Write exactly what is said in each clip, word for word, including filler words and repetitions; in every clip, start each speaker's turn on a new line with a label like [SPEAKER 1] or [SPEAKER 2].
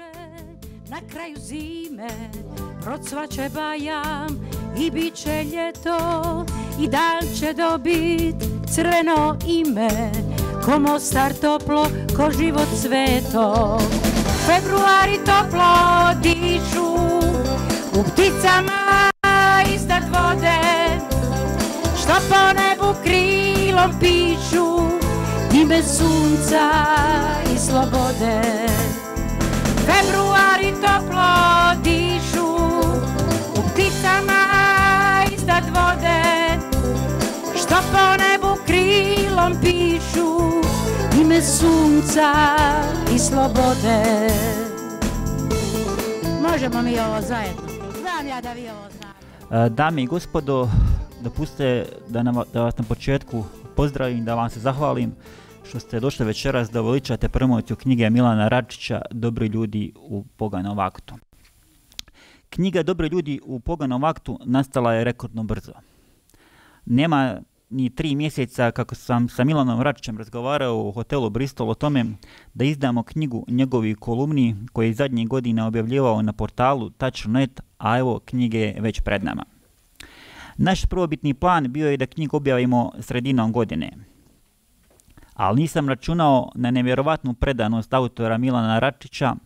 [SPEAKER 1] stiže na kraju zime, procvaće bajam i bit će ljeto i dan će dobit crveno ime, ko Mostar toplo, ko život sveto. Februari toplo dišu u pticama iznad vode, što po nebu krilom pišu ime sunca i slobode. Februari toplo dišu u pticama iznad vode, što po nebu krilom pišu ime sunca i slobode. Možemo mi ovo zajedno. Znam ja da vi ovo znate.
[SPEAKER 2] Dame i gospodo, dopustite da, nam, da vas na početku pozdravim, da vam se zahvalim što ste došli večeras da veličate promociju knjige Milana Račića Dobri ljudi u poganom vaktu. Knjiga Dobri ljudi u poganom vaktu nastala je rekordno brzo. Nema ni tri mjeseca kako sam sa Milanom Račićem razgovarao u hotelu Bristol o tome da izdamo knjigu njegovih kolumni koje je zadnjih godina objavljivao na portalu touch dot net, a evo knjige je već pred nama. Naš prvobitni plan bio je da knjigu objavimo sredinom godine, ali nisam računao na nevjerovatnu predanost autora Milana Račića,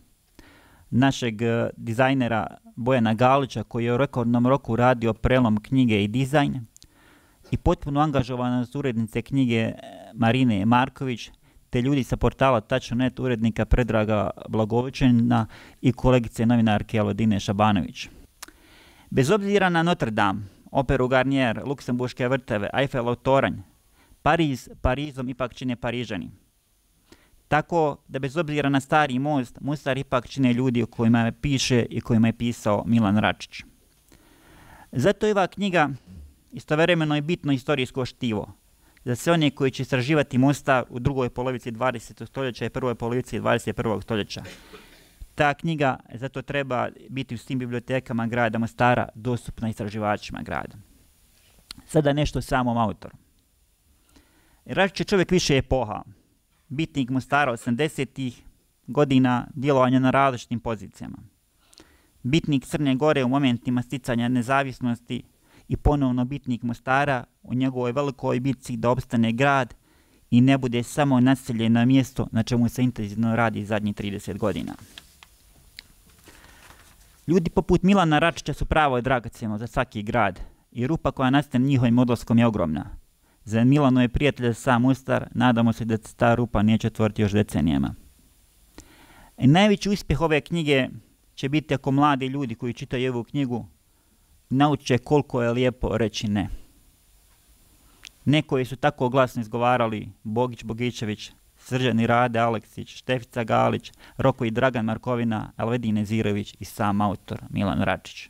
[SPEAKER 2] našeg dizajnera Bojana Galića koji je u rekordnom roku radio prelom knjige i dizajn, i potpuno angažovanost urednice knjige Marine Marković, te ljudi sa portala touch dot net, urednika Predraga Blagovićena i kolegice novinarke Elodine Šabanović. Bez obzira na Notre Dame, operu Garnier, Luksemburške vrteve, Eiffelov toranj, Pariz Parizom ipak čine Parižani. Tako da bez obzira na stari most, Mostar ipak čine ljudi o kojima je piše i kojima je pisao Milan Račić. Zato je ova knjiga istovremeno je bitno istorijsko štivo za sve one koji će istraživati Mostar u drugoj polovici dvadesetog stoljeća i prvoj polovici dvadeset prvog stoljeća. Ta knjiga zato treba biti u svim bibliotekama grada Mostara dostupna istraživačima grada. Sada nešto o samom autoru. Račić je čovjek više epoha, bitnik Mostara osamdesetih godina, djelovanja na različitim pozicijama. Bitnik Crne Gore u momentima sticanja nezavisnosti i ponovno bitnik Mostara u njegovoj velikoj bitci da opstane grad i ne bude samo naseljeno mjesto na čemu se intenzivno radi zadnjih trideset godina. Ljudi poput Milana Račića su pravo dragocjeno za svaki grad i rupa koja nastane njihovim odlaskom je ogromna. Za Milano je prijatelj sam Mostar, nadamo se da se ta rupa neće otvoriti još decenijama. I najveći uspjeh ove knjige će biti ako mladi ljudi koji čitaju ovu knjigu nauče koliko je lijepo reći ne. Ne koji su tako glasno izgovarali Bogić Bogićević, Srđan i Rade Aleksić, Štefica Galić, Roko i Dragan Markovina, Elvedin Nezirović i sam autor Milan Račić.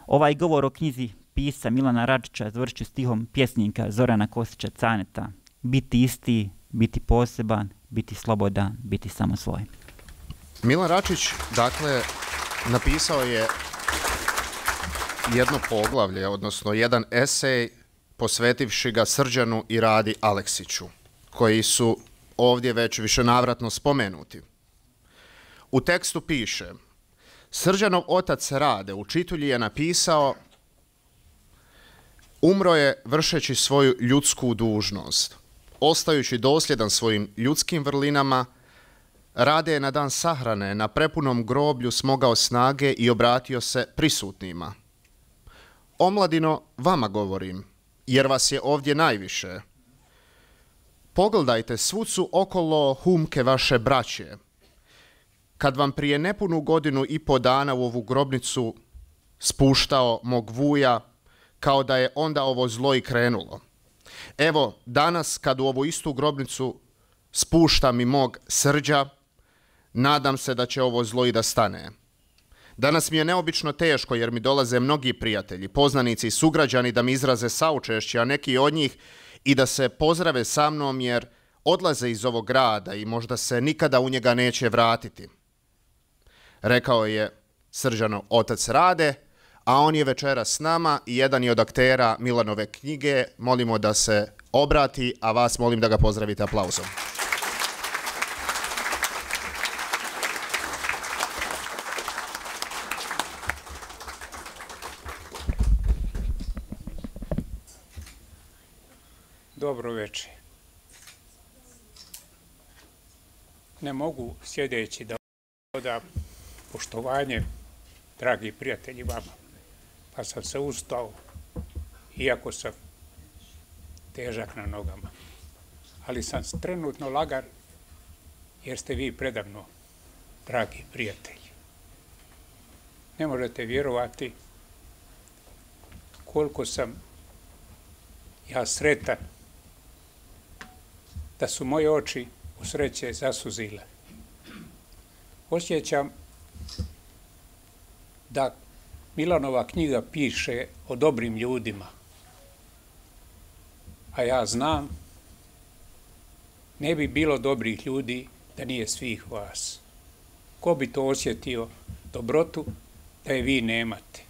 [SPEAKER 2] Ovaj govor o knjizi pisa Milana Račića završću stihom pjesnika Zorana Kosića Caneta: biti isti, biti poseban, biti slobodan, biti samo svoj.
[SPEAKER 3] Milan Račić, dakle, napisao je jedno poglavlje, odnosno jedan esej posvetivši ga Srđanu i Radi Aleksiću, koji su ovdje već višenavratno spomenuti. U tekstu piše: Srđanov otac Rade u Čitulji je napisao: umro je vršeći svoju ljudsku dužnost. Ostajući dosljedan svojim ljudskim vrlinama, Rade je na dan sahrane na prepunom groblju smogao snage i obratio se prisutnima. Omladino, vama govorim, jer vas je ovdje najviše. Pogledajte, svud su okolo humke vaše braće. Kad vam prije nepunu godinu i po dana u ovu grobnicu spuštao mog vuja, kao da je onda ovo zlo i krenulo. Evo, danas kad u ovu istu grobnicu spuštam i mog Srđa, nadam se da će ovo zlo i da stane. Danas mi je neobično teško jer mi dolaze mnogi prijatelji, poznanici i sugrađani da mi izraze saučešće, a neki od njih i da se pozdrave sa mnom jer odlaze iz ovog grada i možda se nikada u njega neće vratiti. Rekao je Srđanov otac Rade, a on je večera s nama i jedan je od aktera Milanove knjige. Molimo da se obrati, a vas molim da ga pozdravite aplauzom.
[SPEAKER 4] dobro večer. Ne mogu sjedeći da odam poštovanje, dragi prijatelji, vama. Pa sam se ustao, iako sam težak na nogama. Ali sam trenutno lagan, jer ste vi predavno, dragi prijatelji. Ne možete vjerovati koliko sam ja sretan da su moje oči u sreće zasuzile. Osjećam da Milanova knjiga piše o dobrim ljudima, a ja znam ne bi bilo dobrih ljudi da nije svih vas. Ko bi to osjetio dobrotu da je vi nemate?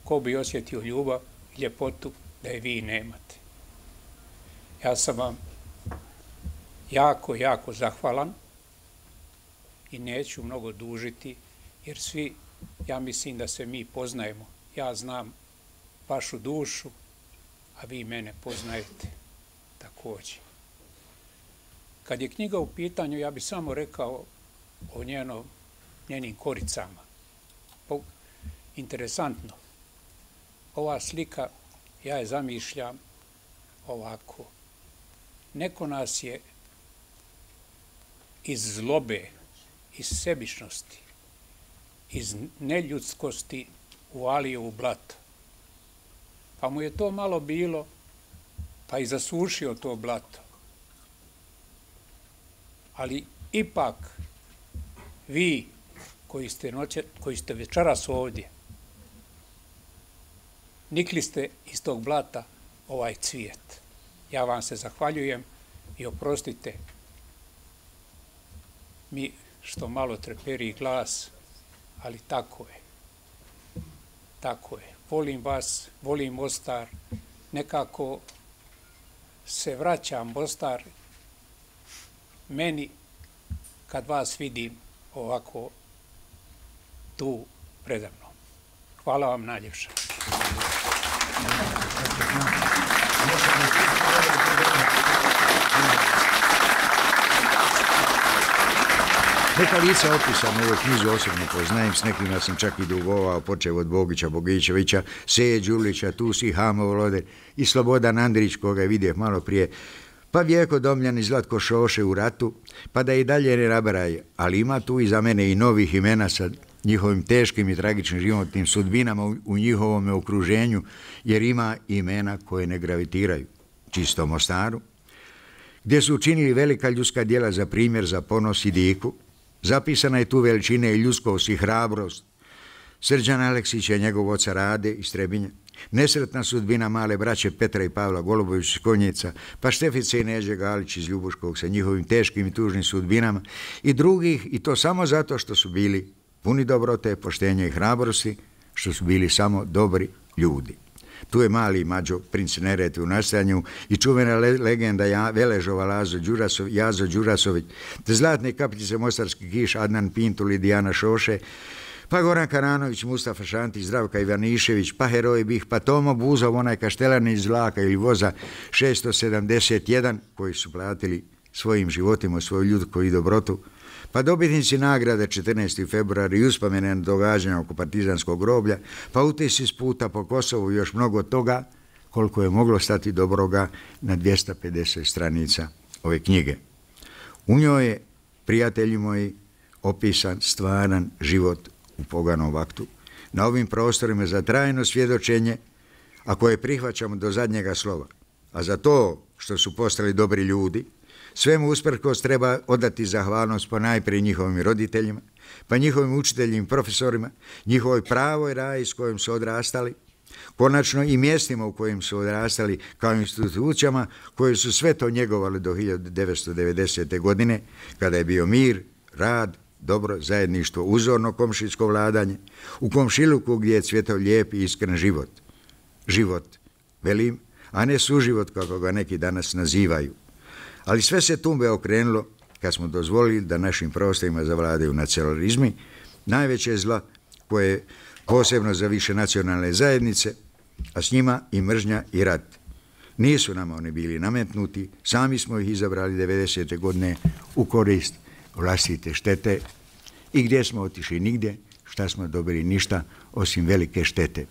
[SPEAKER 4] Ko bi osjetio ljubav i ljepotu da je vi nemate? Ja sam vam jako, jako zahvalan i neću mnogo dužiti, jer svi, ja mislim da se mi poznajemo. Ja znam vašu dušu, a vi mene poznajete također. Kad je knjiga u pitanju, ja bih samo rekao o njenom, njenim koricama. Interesantno. Ova slika, ja je zamišljam ovako. Neko nas je iz zlobe, iz sebičnosti, iz neljudskosti uvalio u blato. Pa mu je to malo bilo, pa i zasušio to blato. Ali ipak vi koji ste, noće, koji ste večeras ovdje, nikli ste iz tog blata ovaj cvijet. Ja vam se zahvaljujem i oprostite mi što malo treperi glas, ali tako je. Tako je. Volim vas, volim Mostar. Nekako se vraćam Mostar meni kad vas vidim ovako tu predavno. Hvala vam najljepša.
[SPEAKER 5] Neka lica opisana u ovoj knjizi osobno poznajem, s nekima sam čak i dugovao, počeo od Bogića, Bogićevića, Seje Đulića, Tusi Hamo Voloder i Slobodan Andrić, koga je vidio malo prije, pa Vjeko Domljan i Zlatko Šoše u ratu, pa da i dalje ne nabraj, ali ima tu i za mene i novih imena sa njihovim teškim i tragičnim životnim sudbinama u njihovom okruženju, jer ima imena koje ne gravitiraju. Čisto Mostaru, gdje su učinili velika ljudska djela za primjer, za ponos i diku. Zapisana je tu veličina i ljudskost i hrabrost Srđana Aleksića i njegov oca Rade iz Trebinja, nesretna sudbina male braće Petra i Pavla Golubović iz Konjica, pa Štefice i Neđe Galić iz Ljubuškog sa njihovim teškim i tužnim sudbinama i drugih, i to samo zato što su bili puni dobrote, poštenja i hrabrosti, što su bili samo dobri ljudi. Tu je mali Mađo, princ Nerete u nastajanju i čuvena le legenda ja, Veležova Lazo Đurasov, Jazo Đurasović, te zlatne kapljice Mostarski kiš Adnan Pintul i Dijana Šoše, pa Goran Karanović, Mustafa Šantić, Zdravka Ivanišević, pa Heroj Bih, pa Tomo Buzov, onaj kaštelan iz vlaka ili voza šesto sedamdeset jedan, koji su platili svojim životima, svoju ljudku i dobrotu, pa dobitnici nagrade četrnaestog februara i uspomene događanja oko partizanskog groblja, pa utisci s puta po Kosovu i još mnogo toga, koliko je moglo stati dobroga na dvjesto pedeset stranica ove knjige. U njoj je, prijatelji moji, opisan stvaran život u poganom vaktu, na ovim prostorima za trajno svjedočenje, a koje prihvaćamo do zadnjega slova. A za to što su postali dobri ljudi, svemu usprkos treba odati zahvalnost po najprije njihovim roditeljima, pa njihovim učiteljima i profesorima, njihovoj pravoj raji s kojim su odrastali, konačno i mjestima u kojim su odrastali kao institucijama koje su sve to njegovali do hiljadu devetsto devedesete. godine, kada je bio mir, rad, dobro, zajedništvo, uzorno komšijsko vladanje, u komšiluku gdje je cvjetao lijep i iskren život. Život, velim, a ne suživot kako ga neki danas nazivaju. Ali sve se tumbe okrenulo kad smo dozvolili da našim prostorima zavladaju nacionalizmi, najveće zla koje je posebno za više nacionalne zajednice, a s njima i mržnja i rat. Nisu nama oni bili nametnuti, sami smo ih izabrali devedesete godine u korist vlastite štete i gdje smo otišli nigdje, šta smo dobili ništa osim velike štete.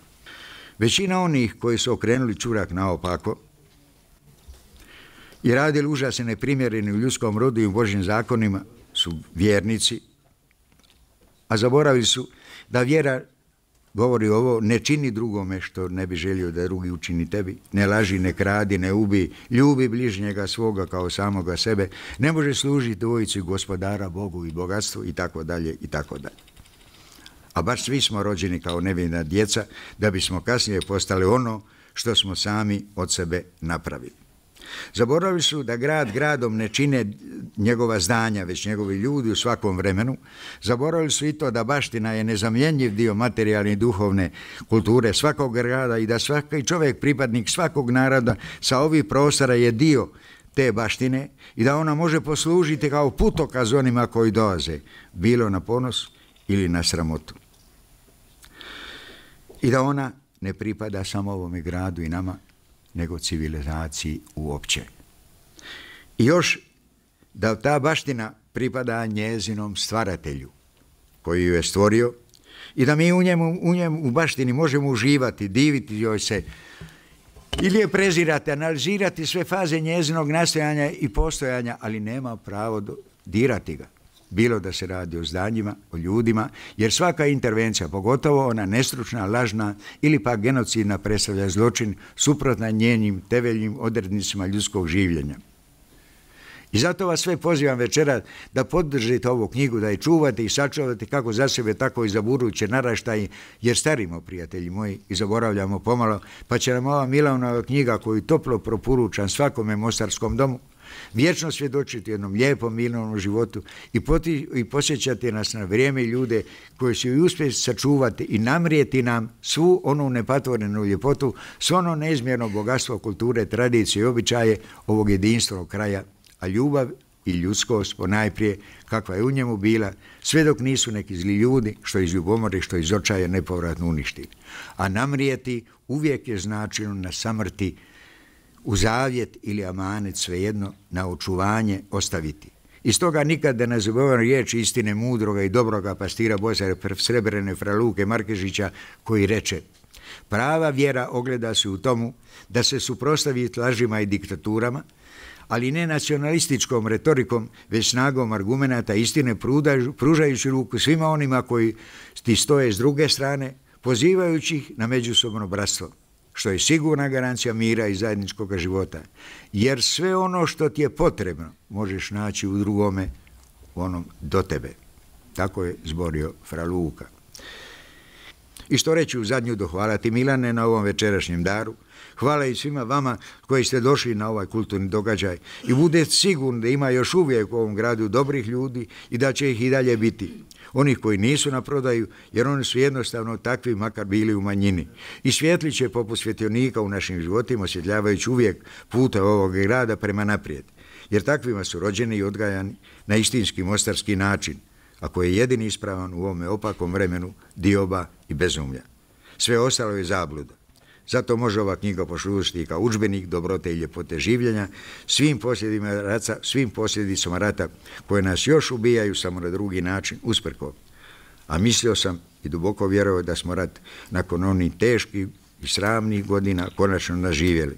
[SPEAKER 5] Većina onih koji su okrenuli čurak naopako i radili užasne neprimjereni u ljudskom rodu i u Božjim zakonima su vjernici, a zaboravili su da vjera govori ovo: ne čini drugome što ne bi želio da drugi učini tebi, ne laži, ne kradi, ne ubi, ljubi bližnjega svoga kao samoga sebe, ne može služiti dvojici Gospodara, Bogu i bogatstvu i tako dalje i tako dalje. A baš svi smo rođeni kao nevina djeca da bismo kasnije postali ono što smo sami od sebe napravili. Zaboravili su da grad gradom ne čine njegova zdanja, već njegovi ljudi u svakom vremenu. Zaboravili su i to da baština je nezamjenjiv dio materijalne i duhovne kulture svakog grada i da svaki čovjek, pripadnik svakog naroda sa ovih prostora je dio te baštine i da ona može poslužiti kao putokaz onima koji dolaze, bilo na ponos ili na sramotu. I da ona ne pripada samo ovome gradu i nama, nego civilizaciji uopće. I još da ta baština pripada njezinom stvaratelju koji ju je stvorio i da mi u njemu, u njemu u baštini možemo uživati, diviti joj se ili je prezirati, analizirati sve faze njezinog nastojanja i postojanja, ali nema pravo do, dirati ga. Bilo da se radi o zdanjima, o ljudima, jer svaka intervencija, pogotovo ona nestručna, lažna ili pa genocidna, predstavlja zločin suprotna njenim temeljnim odrednicama ljudskog življenja. I zato vas sve pozivam večera da podržite ovu knjigu, da je čuvate i sačuvate kako za sebe, tako i za buduće naraštaje, jer starimo, prijatelji moji, i zaboravljamo pomalo, pa će nam ova Milanova knjiga koju toplo proporučam svakome mostarskom domu vječno svjedočiti jednom lijepom, mirnom životu i, poti, i posjećati nas na vrijeme i ljude koji će i uspjeti sačuvati i namrijeti nam svu onu nepatvorenu ljepotu, svo ono neizmjerno bogatstvo kulture, tradicije i običaje ovog jedinstvenog kraja, a ljubav i ljudskost ponajprije kakva je u njemu bila, sve dok nisu neki zli ljudi što iz ljubomore, što iz očaja nepovratno uništili. A namrijeti uvijek je značilo na samrti, u zavjet ili amanet, svejedno, na očuvanje ostaviti. I stoga nikad da ne zaboravim riječ istine mudroga i dobroga pastira Božja Srebrene fra Luke Markežića koji reče: prava vjera ogleda se u tomu da se suprotstavi lažima i diktaturama, ali ne nacionalističkom retorikom, već snagom argumenata istine, pružajući ruku svima onima koji ti stoje s druge strane, pozivajući ih na međusobno bratstvo, što je sigurna garancija mira i zajedničkog života, jer sve ono što ti je potrebno možeš naći u drugome, u onom do tebe. Tako je zborio fra Luka. I što reći u zadnju dohvalati Milane na ovom večerašnjem daru, hvala i svima vama koji ste došli na ovaj kulturni događaj i budete sigurni da ima još uvijek u ovom gradu dobrih ljudi i da će ih i dalje biti. Onih koji nisu na prodaju, jer oni su jednostavno takvi, makar bili u manjini. I svijetli će poput svjetionika u našim životima, osvjetljavajući uvijek puta ovog grada prema naprijed. Jer takvima su rođeni i odgajani na istinski mostarski način, a koji je jedini ispravan u ovome opakom vremenu dioba i bezumlja. Sve ostalo je zabluda. Zato može ova knjiga poslužiti kao udžbenik dobrote i ljepote življenja svim posljedicama rata, svim posljedicama rata koje nas još ubijaju samo na drugi način, usprko. A mislio sam i duboko vjerovao da smo rat nakon onih teških i sramnih godina konačno naživjeli.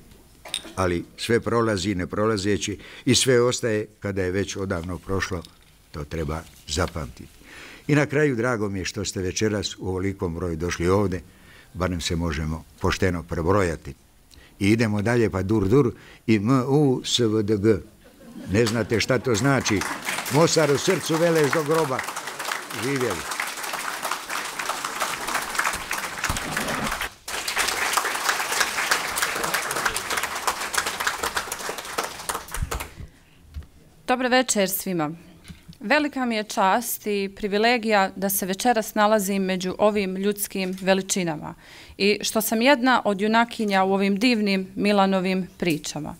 [SPEAKER 5] Ali sve prolazi ne prolazeći i sve ostaje kada je već odavno prošlo, to treba zapamtiti. I na kraju drago mi je što ste večeras u ovolikom broju došli ovdje, barem se možemo pošteno prebrojati. I idemo dalje pa dur dur i M U S V D G. Ne znate šta to znači. Mostar u srcu, Velez do groba. Živjeli.
[SPEAKER 6] Dobar večer svima. Velika mi je čast i privilegija da se večeras nalazim među ovim ljudskim veličinama i što sam jedna od junakinja u ovim divnim Milanovim pričama.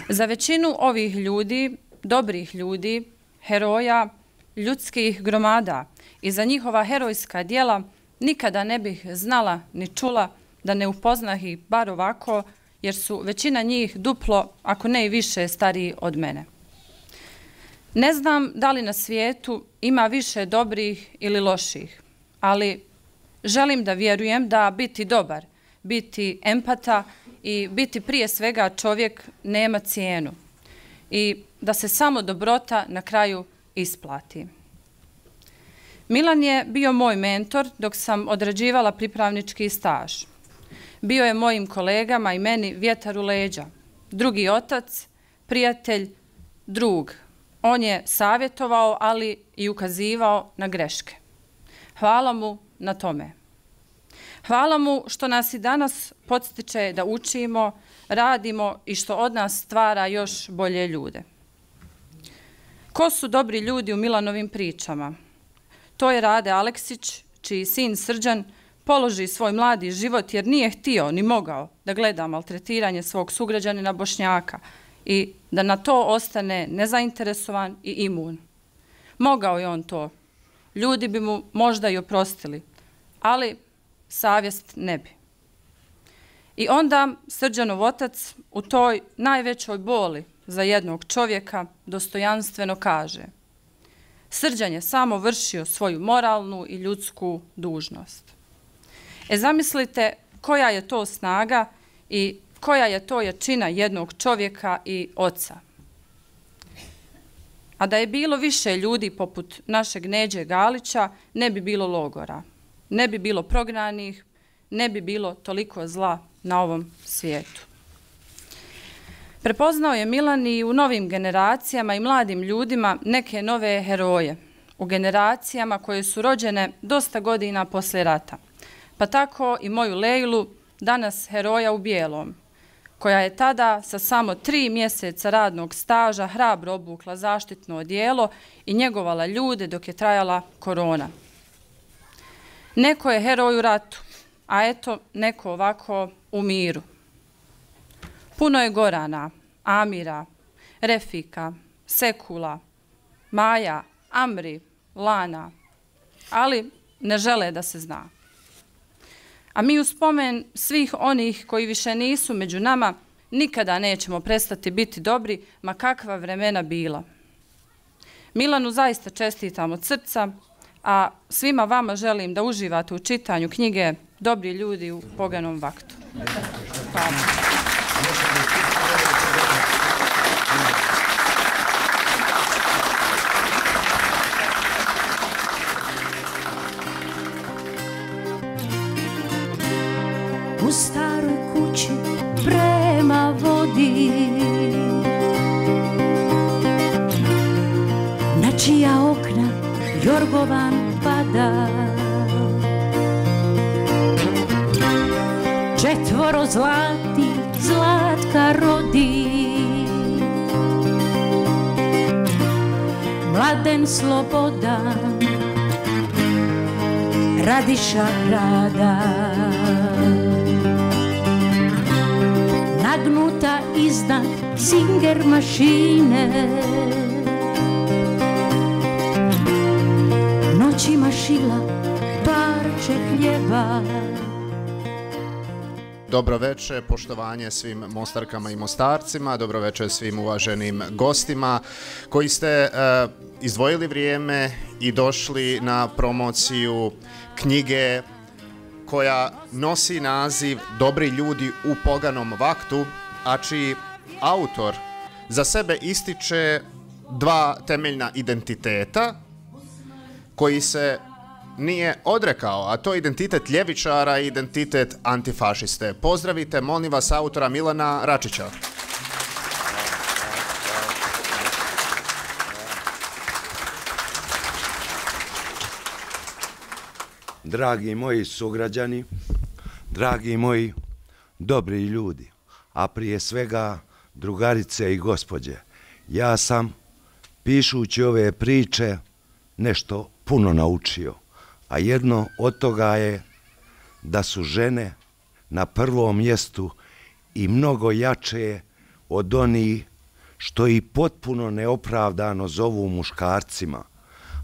[SPEAKER 6] Za većinu ovih ljudi, dobrih ljudi, heroja, ljudskih gromada i za njihova herojska djela nikada ne bih znala ni čula da ne upoznah ih bar ovako jer su većina njih duplo, ako ne i više, stariji od mene. Ne znam da li na svijetu ima više dobrih ili loših, ali želim da vjerujem da biti dobar, biti empata i biti prije svega čovjek nema cijenu i da se samo dobrota na kraju isplati. Milan je bio moj mentor dok sam odrađivala pripravnički staž. Bio je mojim kolegama i meni vjetar u leđa, drugi otac, prijatelj, drug. On je savjetovao, ali i ukazivao na greške. Hvala mu na tome. Hvala mu što nas i danas podstiče da učimo, radimo i što od nas stvara još bolje ljude. Ko su dobri ljudi u Milanovim pričama? To je Rade Aleksić, čiji sin Srđan položi svoj mladi život jer nije htio ni mogao da gleda maltretiranje svog sugrađanina Bošnjaka i da na to ostane nezainteresovan i imun. Mogao je on to. Ljudi bi mu možda i oprostili, ali savjest ne bi. I onda Srđanov otac u toj najvećoj boli za jednog čovjeka dostojanstveno kaže: Srđan je samo vršio svoju moralnu i ljudsku dužnost. E zamislite koja je to snaga i koja je to jačina jednog čovjeka i oca. A da je bilo više ljudi poput našeg Neđe Galića, ne bi bilo logora, ne bi bilo prognanih, ne bi bilo toliko zla na ovom svijetu. Prepoznao je Milan i u novim generacijama i mladim ljudima neke nove heroje, u generacijama koje su rođene dosta godina poslije rata. Pa tako i moju Lejlu, danas heroja u bijelom, koja je tada sa samo tri mjeseca radnog staža hrabro obukla zaštitno odijelo i njegovala ljude dok je trajala korona. Neko je heroj u ratu, a eto neko ovako u miru. Puno je Gorana, Amira, Refika, Sekula, Maja, Amri, Lana, ali ne žele da se zna. A mi u spomen svih onih koji više nisu među nama nikada nećemo prestati biti dobri, ma kakva vremena bila. Milanu zaista čestitam od srca, a svima vama želim da uživate u čitanju knjige Dobri ljudi u poganom vaktu. Hvala.
[SPEAKER 7] U staroj kući prema vodi, na čija okna jorgovan pada, četvoro zlati zlatka rodi, mladen slobodan Radiša rada. Nagnuta iznad Singer mašine, noćima šila parče hljeba.
[SPEAKER 3] Dobro večer, poštovanje svim Mostarkama i Mostarcima, dobro večer svim uvaženim gostima koji ste uh, izdvojili vrijeme i došli na promociju knjige koja nosi naziv Dobri ljudi u poganom vaktu, a čiji autor za sebe ističe dva temeljna identiteta koji se nije odrekao, a to je identitet ljevičara i identitet antifašiste. Pozdravite, molim vas, autora Milana Račića.
[SPEAKER 8] Dragi moji sugrađani, dragi moji dobri ljudi, a prije svega drugarice i gospođe, ja sam, pišući ove priče, nešto puno naučio, a jedno od toga je da su žene na prvom mjestu i mnogo jače od onih što i potpuno neopravdano zovu muškarcima,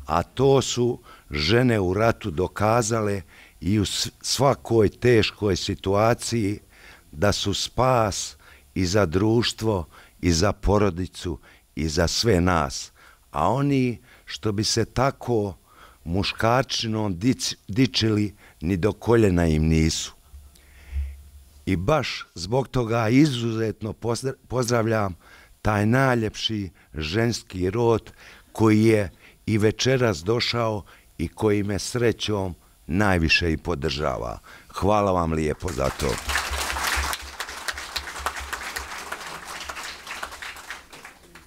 [SPEAKER 8] a to su žene u ratu dokazale i u svakoj teškoj situaciji da su spas i za društvo, i za porodicu, i za sve nas. A oni što bi se tako muškarčinom dič, dičili, ni do koljena im nisu. I baš zbog toga izuzetno pozdravljam taj najljepši ženski rod koji je i večeras došao i koji me srećom najviše i podržava. Hvala vam lijepo za to.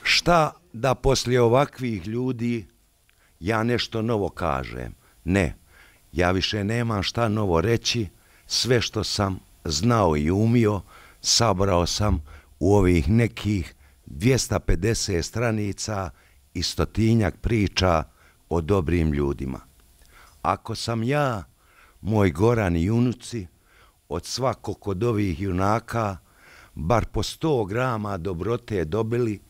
[SPEAKER 8] Šta da poslije ovakvih ljudi ja nešto novo kažem? Ne, ja više nemam šta novo reći, sve što sam znao i umio, sabrao sam u ovih nekih dvjesto pedeset stranica i stotinjak priča o dobrim ljudima. Ako sam ja, moj Goran i unuci, od svakog od ovih junaka bar po sto grama dobrote dobili,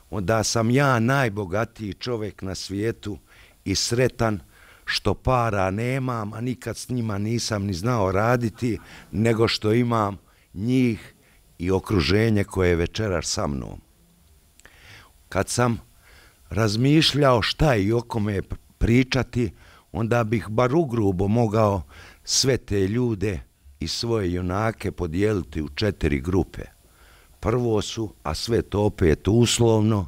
[SPEAKER 8] onda sam ja najbogatiji čovjek na svijetu i sretan što para nemam, a nikad s njima nisam ni znao raditi, nego što imam njih i okruženje koje je večeras sa mnom. Kad sam razmišljao šta i o kome pričati, onda bih bar ugrubo mogao sve te ljude i svoje junake podijeliti u četiri grupe. Prvo su, a sve to opet uslovno,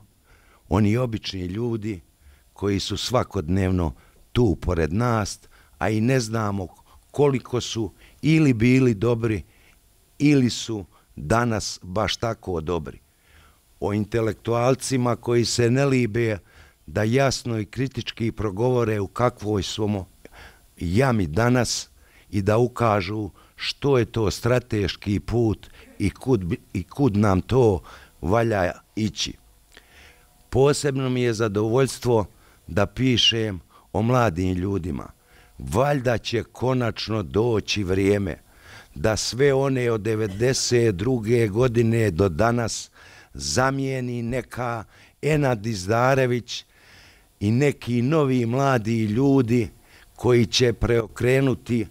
[SPEAKER 8] oni obični ljudi koji su svakodnevno tu pored nas, a i ne znamo koliko su ili bili dobri ili su danas baš tako dobri. O intelektualcima koji se ne libe da jasno i kritički progovore u kakvoj smo jami danas i da ukažu što je to strateški put i kud, i kud nam to valja ići. Posebno mi je zadovoljstvo da pišem o mladim ljudima. Valjda će konačno doći vrijeme da sve one od devedeset druge godine do danas zamijeni neka Enad Izdarević i neki novi mladi ljudi koji će preokrenuti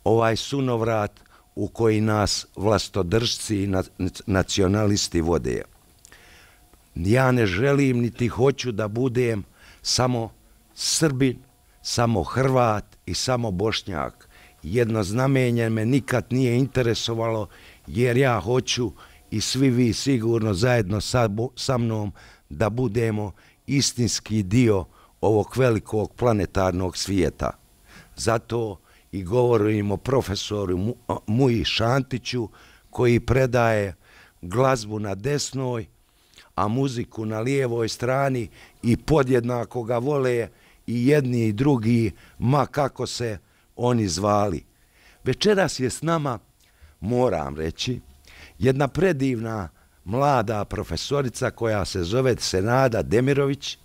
[SPEAKER 8] ovaj sunovrat u koji nas vlastodržci i nacionalisti vode. Ja ne želim niti hoću da budem samo Srbin, samo Hrvat i samo Bošnjak. Jedno znamenje me nikad nije interesovalo, jer ja hoću i svi vi sigurno zajedno sa, sa mnom da budemo istinski dio ovog velikog planetarnog svijeta. Zato i govorim o profesoru Muji Šantiću koji predaje glazbu na desnoj, a muziku na lijevoj strani i podjednako ga vole i jedni i drugi, ma kako se oni zvali. Večeras je s nama, moram reći, jedna predivna mlada profesorica koja se zove Senada Demirović,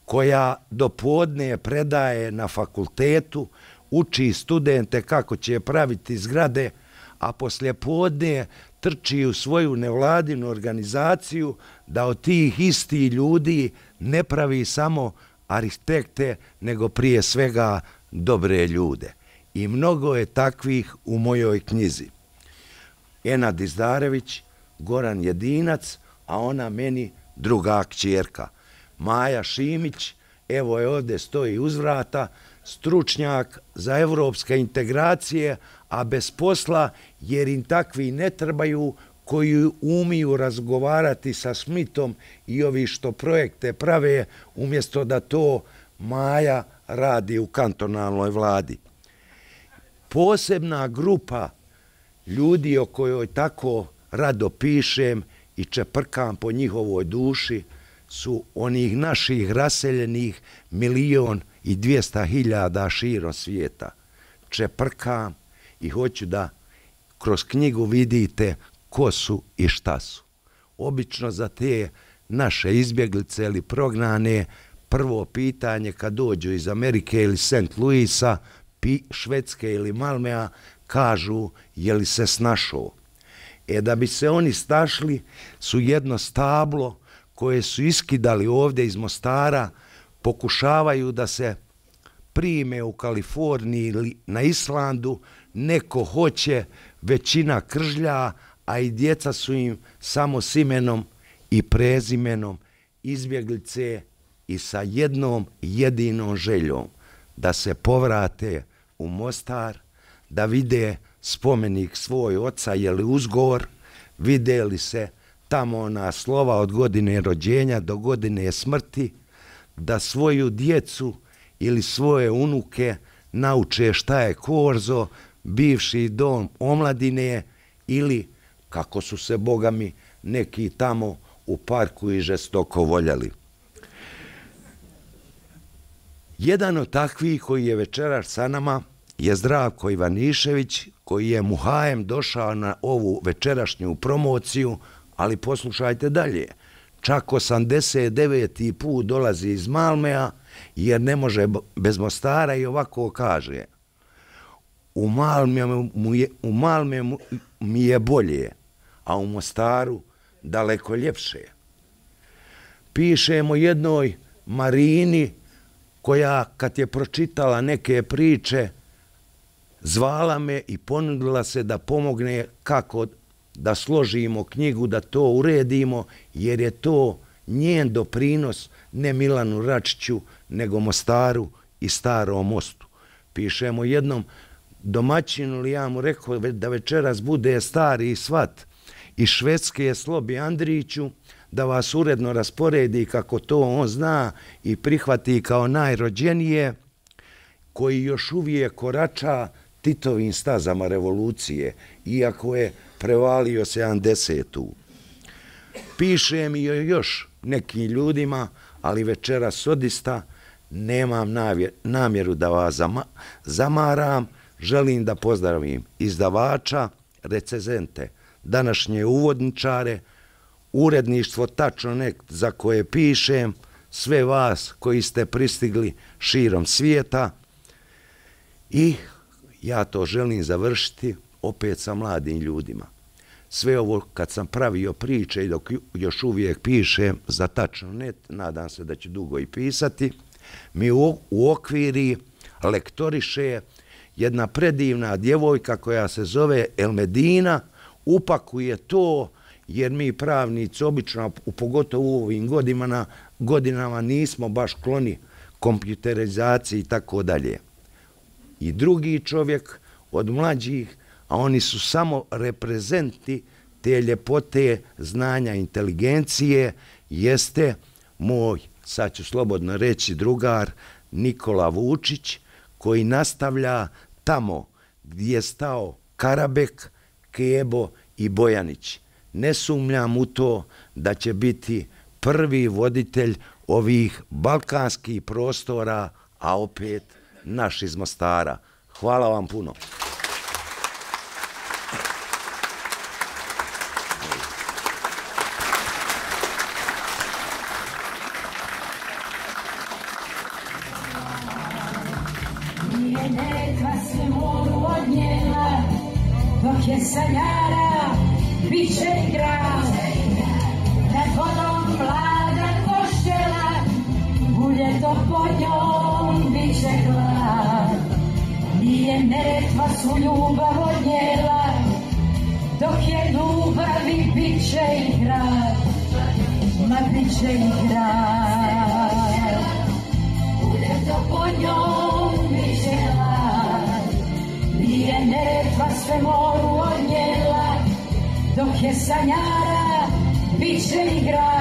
[SPEAKER 8] koja do podne predaje na fakultetu, uči studente kako će praviti zgrade, a poslije podne trči u svoju nevladinu organizaciju da od tih istih ljudi ne pravi samo arhitekte, nego prije svega dobre ljude. I mnogo je takvih u mojoj knjizi. Enad Izdarević, Goran Jedinac, a ona meni druga kćerka. Maja Šimić, evo je ovdje stoji uz vrata, stručnjak za evropske integracije, a bez posla jer im takvi ne trebaju koji umiju razgovarati sa Smithom i ovi što projekte prave, umjesto da to Maja radi u kantonalnoj vladi. Posebna grupa ljudi o kojoj tako rado pišem i čeprkam po njihovoj duši su onih naših raseljenih milion i dvijesta hiljada širom svijeta. Čeprkam i hoću da kroz knjigu vidite ko su i šta su. Obično za te naše izbjeglice ili prognane prvo pitanje kad dođu iz Amerike ili Saint Louisa, Švedske ili Malmea, kažu je li se snašao. E da bi se oni stašli su jedno stablo koje su iskidali ovdje iz Mostara, pokušavaju da se prime u Kaliforniji ili na Islandu, neko hoće, većina kržlja, a i djeca su im samo s imenom i prezimenom izbjeglice i sa jednom jedinom željom da se povrate u Mostar, da vide spomenik svoj oca Jeli Uzgor, vide li se tamo ona slova od godine rođenja do godine smrti, da svoju djecu ili svoje unuke nauče šta je Korzo, bivši dom omladine ili kako su se bogami neki tamo u parku i žestoko voljeli. Jedan od takvih koji je večeras sa nama je Zdravko Ivanišević, koji je muhajem došao na ovu večerašnju promociju, ali poslušajte dalje. Čak osamdeset deveti put dolazi iz Malmea, jer ne može bez Mostara i ovako kaže: u Malmeu u Malmeu mi je bolje, a u Mostaru daleko ljepše. Pišemo jednoj Marini koja kad je pročitala neke priče zvala me i ponudila se da pomogne kako da složimo knjigu, da to uredimo, jer je to njen doprinos ne Milanu Račiću, nego Mostaru i Starom Mostu. Pišemo jednom domaćinu, li ja mu rekao da večeras bude stari svat iz Švedske Slobi Andriću, da vas uredno rasporedi kako to on zna i prihvati kao najrođenije, koji još uvijek korača Titovim stazama revolucije, iako je prevalio sedamdesetu. Piše mi još nekim ljudima, ali večeras odista nemam namjeru da vas zamaram. Želim da pozdravim izdavača, recenzente, današnje uvodničare, uredništvo Tačno Net za koje pišem, sve vas koji ste pristigli širom svijeta, i ja to želim završiti opet sa mladim ljudima. Sve ovo kad sam pravio priče i dok još uvijek pišem za Tačno Net, nadam se da ću dugo i pisati, mi u, u okviri lektoriše jedna predivna djevojka koja se zove Elmedina, upakuje to, jer mi pravnici obično, pogotovo u ovim godinama, godinama nismo baš kloni kompjuterizaciji i tako dalje. I drugi čovjek od mlađih, a oni su samo reprezenti te ljepote, znanja, inteligencije, jeste moj, sad ću slobodno reći, drugar Nikola Vučić, koji nastavlja tamo gdje je stao Karabek, Kebo i Bojanić. Ne sumnjam u to da će biti prvi voditelj ovih balkanskih prostora, a opet naš iz Mostara. Hvala vam puno.
[SPEAKER 9] Nije Neretva se moru odnijela, dok je sanjara, bit će i grad. Nad vodom mlada koštela, uljeto pod njom bit će glad. Nije Neretva su ljubav odnijela, dok je ljubavi bit će i grad. Ma bit će i grad. Uljeto pod njom bit će glad. Nije Neretva sve moru odnijela, dok je sanjara, bit će i grad.